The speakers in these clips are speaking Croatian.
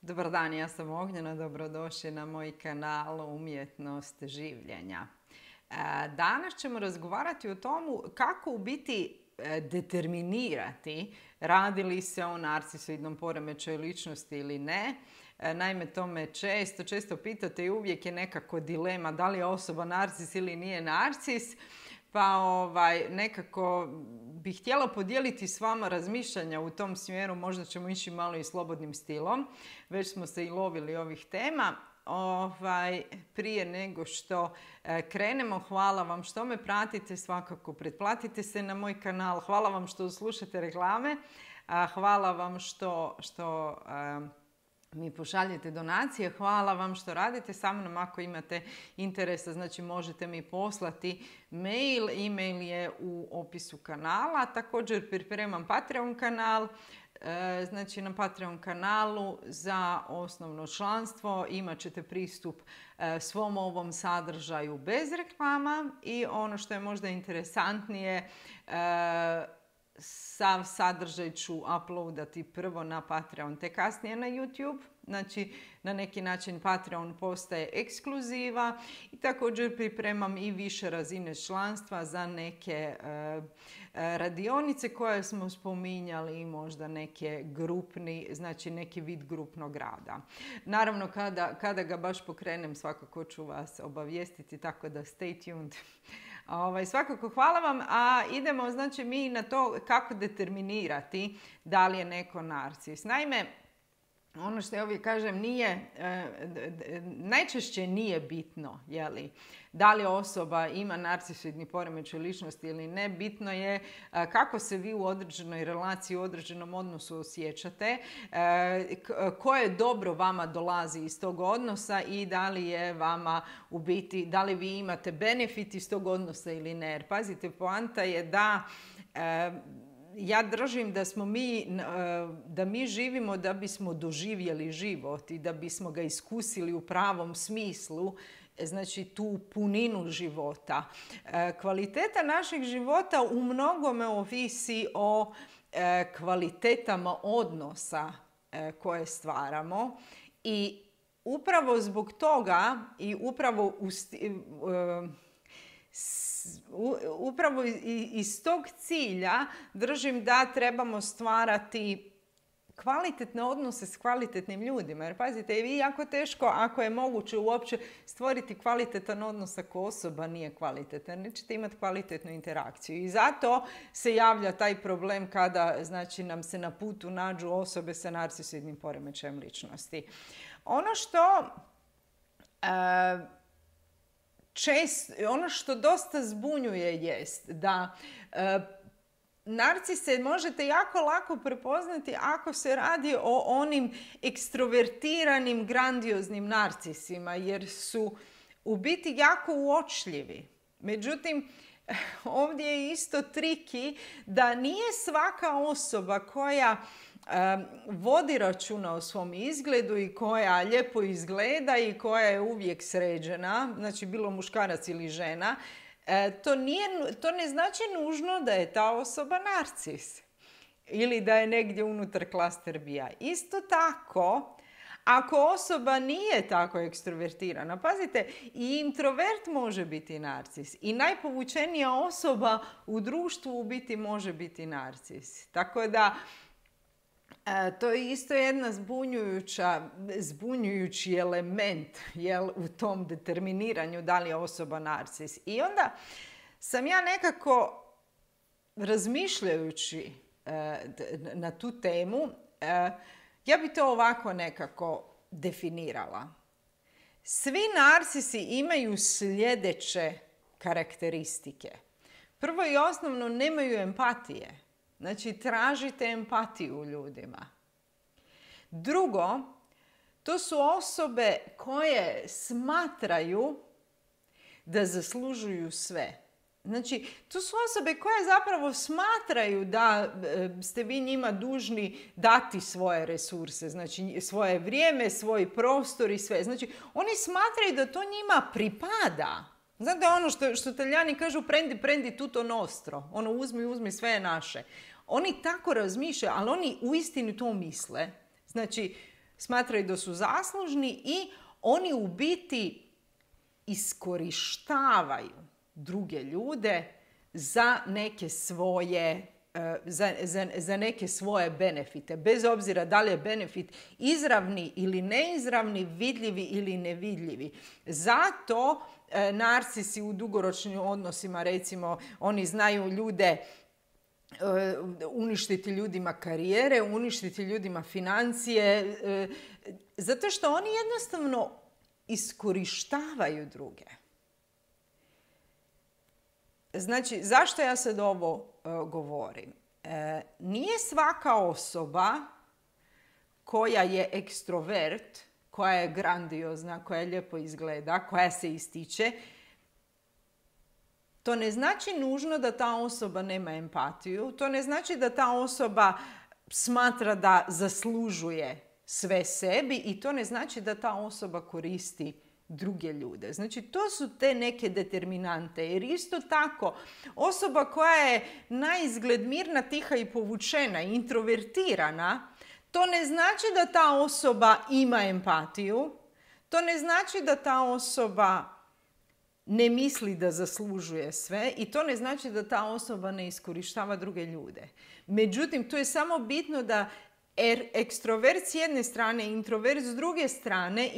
Dobar dan, ja sam Ognjena, dobrodošli na moj kanal Umjetnost življenja. Danas ćemo razgovarati o tomu kako u biti determinirati radi li se o narcisoidnom poremećaju ličnosti ili ne. Naime, to me često pitate i uvijek je nekako dilema da li je osoba narcis ili nije narcis. Pa nekako bih htjela podijeliti s vama razmišljanja u tom smjeru, možda ćemo ići malo i slobodnim stilom. Već smo se i lovili ovih tema. Prije nego što krenemo, hvala vam što me pratite, svakako pretplatite se na moj kanal, hvala vam što slušate reklame, hvala vam što mi pošaljete donacije, hvala vam što radite sa mnom. Ako imate interesa, znači možete mi poslati mail, e-mail je u opisu kanala. Također pripremam Patreon kanal, znači na Patreon kanalu za osnovno članstvo imat ćete pristup svom ovom sadržaju bez reklama i ono što je možda interesantnije, sav sadržaj ću uploadati prvo na Patreon, te kasnije na YouTube. Znači, na neki način Patreon postaje ekskluziva i također pripremam i više razine članstva za neke radionice koje smo spominjali i možda neke grupni, znači neki vid grupnog rada. Naravno, kada ga baš pokrenem, svakako ću vas obavijestiti, tako da stay tuned. Svakako hvala vam, a idemo znači mi na to kako determinirati da li je neko narcis. Naime, ono što ja uvijek kažem, najčešće nije bitno da li osoba ima narcisoidni poremećaj ličnosti ili ne. Bitno je kako se vi u određenoj relaciji, u određenom odnosu osjećate, koje dobro vama dolazi iz tog odnosa i da li je vama u biti, da li vi imate benefit iz tog odnosa ili ne. Jer pazite, poanta je da ja držim da mi živimo da bismo doživjeli život i da bismo ga iskusili u pravom smislu, znači tu puninu života. Kvaliteta našeg života u mnogome ovisi o kvalitetama odnosa koje stvaramo i upravo zbog toga i upravo iz tog cilja držim da trebamo stvarati kvalitetne odnose s kvalitetnim ljudima. Jer pazite, vi jako teško, ako je moguće uopće stvoriti kvalitetan odnos ako osoba nije kvalitetna. Nećete imati kvalitetnu interakciju. I zato se javlja taj problem kada znači, nam se na putu nađu osobe sa narcisoidnim poremećajem ličnosti. Ono što dosta zbunjuje jest da narcise možete jako lako prepoznati ako se radi o onim ekstrovertiranim, grandioznim narcisima, jer su u biti jako uočljivi. Međutim, ovdje je isto triki da nije svaka osoba koja vodi računa o svom izgledu i koja lijepo izgleda i koja je uvijek sređena, znači bilo muškarac ili žena, to ne znači nužno da je ta osoba narcis ili da je negdje unutar klaster bija. Isto tako, ako osoba nije tako ekstrovertirana, pazite, i introvert može biti narcis i najpovučenija osoba u društvu u biti može biti narcis. Tako da to je isto jedna zbunjujući element u tom determiniranju da li je osoba narcis. I onda sam ja nekako razmišljajući na tu temu, ja bi to ovako nekako definirala. Svi narcisi imaju sljedeće karakteristike. Prvo i osnovno, nemaju empatije. Znači, tražite empatiju u ljudima. Drugo, to su osobe koje smatraju da zaslužuju sve. Znači, to su osobe koje zapravo smatraju da ste vi njima dužni dati svoje resurse, znači svoje vrijeme, svoj prostor i sve. Znači, oni smatraju da to njima pripada. Znate ono što Talijani kažu prendi tutto nostro, ono uzmi sve je naše. Oni tako razmišljaju, ali oni uistinu to misle. Znači, Smatraju da su zaslužni i oni u biti iskorištavaju druge ljude za neke svoje za neke svoje benefite. Bez obzira da li je benefit izravni ili neizravni, vidljivi ili nevidljivi. Zato narcisi u dugoročnim odnosima, recimo, oni znaju ljude uništiti ljudima karijere, uništiti ljudima financije, zato što oni jednostavno iskorištavaju druge. Znači, zašto ja sad ovo govorim? Nije svaka osoba koja je ekstrovert, koja je grandiozna, koja lijepo izgleda, koja se ističe, to ne znači nužno da ta osoba nema empatiju, to ne znači da ta osoba smatra da zaslužuje sve sebi i to ne znači da ta osoba koristi druge ljude. Znači, to su te neke determinante. Jer isto tako, osoba koja je naizgled mirna, tiha i povučena, introvertirana, to ne znači da ta osoba ima empatiju, to ne znači da ta osoba ne misli da zaslužuje sve i to ne znači da ta osoba ne iskorištava druge ljude. Međutim, to je samo bitno da ekstrovert s jedne strane i introvert s druge strane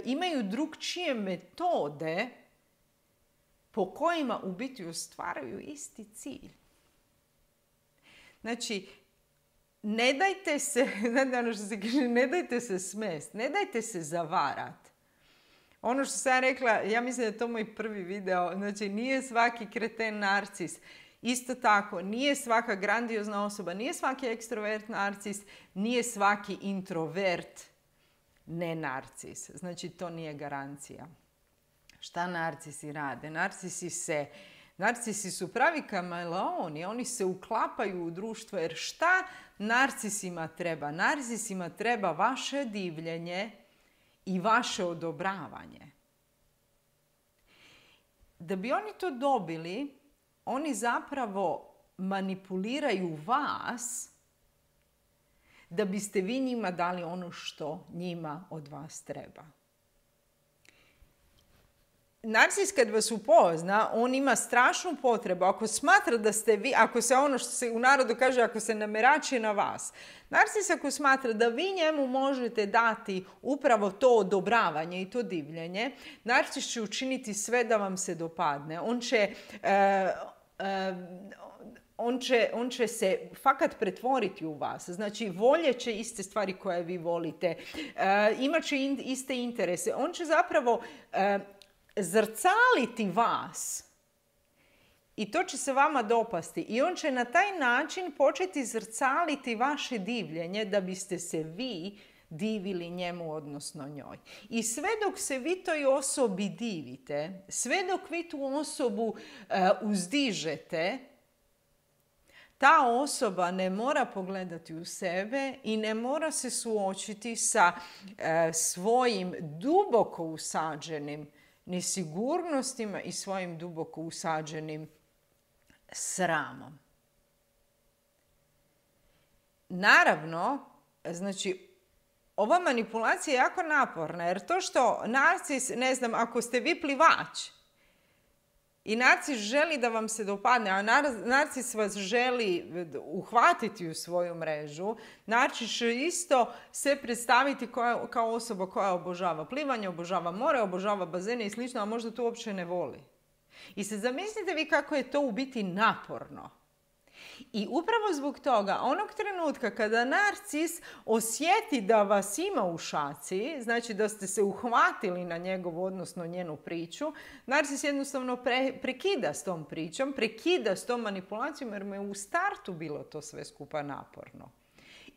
imaju drukčije metode po kojima u biti ostvaruju isti cilj. Znači, ne dajte se, ono što se kaže, ne dajte se smest, ne dajte se zavarat. Ono što sam ja rekla, ja mislim da je to moj prvi video, znači nije svaki kreten narcis. Isto tako, nije svaka grandiozna osoba, nije svaki ekstrovert narcis, nije svaki introvert ne narcis. Znači, to nije garancija. Šta narcisi rade? Narcisi su pravi kameleoni, oni se uklapaju u društvo, jer šta narcisima treba? Narcisima treba vaše divljenje i vaše odobravanje. Da bi oni to dobili, oni zapravo manipuliraju vas da biste vi njima dali ono što njima od vas treba. Narcis kad vas upozna, on ima strašnu potrebu. Ako smatra da ste vi, ako se ono što se u narodu kaže, ako se namerači na vas. Narcis ako smatra da vi njemu možete dati upravo to odobravanje i to divljenje, narcis će učiniti sve da vam se dopadne. On će se fakat pretvoriti u vas. Znači, voljet će iste stvari koje vi volite. Imat će iste interese. On će zapravo zrcaliti vas i to će se vama dopasti. I on će na taj način početi zrcaliti vaše divljenje da biste se vi divili njemu, odnosno njoj. I sve dok se vi toj osobi divite, sve dok vi tu osobu uzdižete, ta osoba ne mora pogledati u sebe i ne mora se suočiti sa svojim duboko usađenim nesigurnostima i svojim duboko usađenim sramom. Naravno, znači, ova manipulacija je jako naporna, jer to što narcis, ne znam, ako ste vi plivač i narcis želi da vam se dopadne, a narcis vas želi uhvatiti u svoju mrežu, narcis će isto se predstaviti kao osoba koja obožava plivanje, obožava more, obožava bazene i slično, a možda to uopće ne voli. I sad zamislite vi kako je to u biti naporno. I upravo zbog toga, onog trenutka kada narcis osjeti da vas ima u šaci, znači da ste se uhvatili na njegovu, odnosno njenu priču, narcis jednostavno prekida s tom pričom, prekida s tom manipulacijom jer mu je u startu bilo to sve skupa naporno.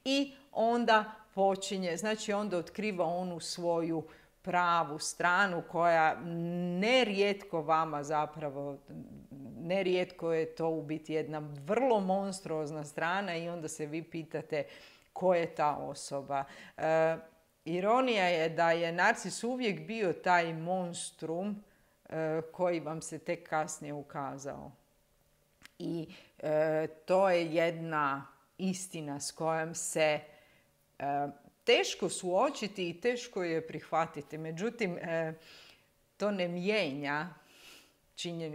I onda počinje, znači onda otkriva onu svoju pravu stranu koja nerijetko vama zapravo, nerijetko je to u biti jedna vrlo monstruozna strana i onda se vi pitate ko je ta osoba. Ironija je da je narcis uvijek bio taj monstrum koji vam se tek kasnije ukazao. I to je jedna istina s kojom se teško suočiti i teško je prihvatiti. Međutim, to ne mijenja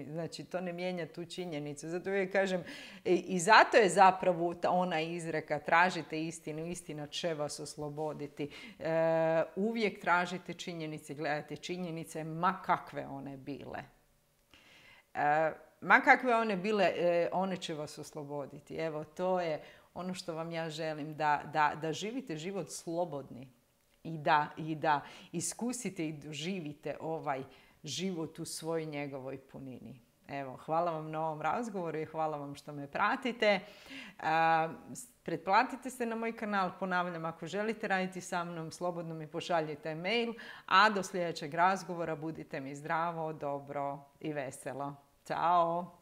znači to ne mijenja tu činjenicu. Zato uvijek kažem, i zato je zapravo ona izreka tražite istinu, istina će vas osloboditi. Uvijek tražite činjenice, gledajte činjenice, ma kakve one bile. Ma kakve one bile, one će vas osloboditi. Evo, to je ono što vam ja želim, da živite život slobodni i da iskusite i doživite ovaj život u svoj njegovoj punini. Evo, hvala vam na ovom razgovoru i hvala vam što me pratite. Pretplatite se na moj kanal, ponavljam, ako želite raditi sa mnom, slobodno mi pošaljite mail, a do sljedećeg razgovora budite mi zdravo, dobro i veselo. Ćao!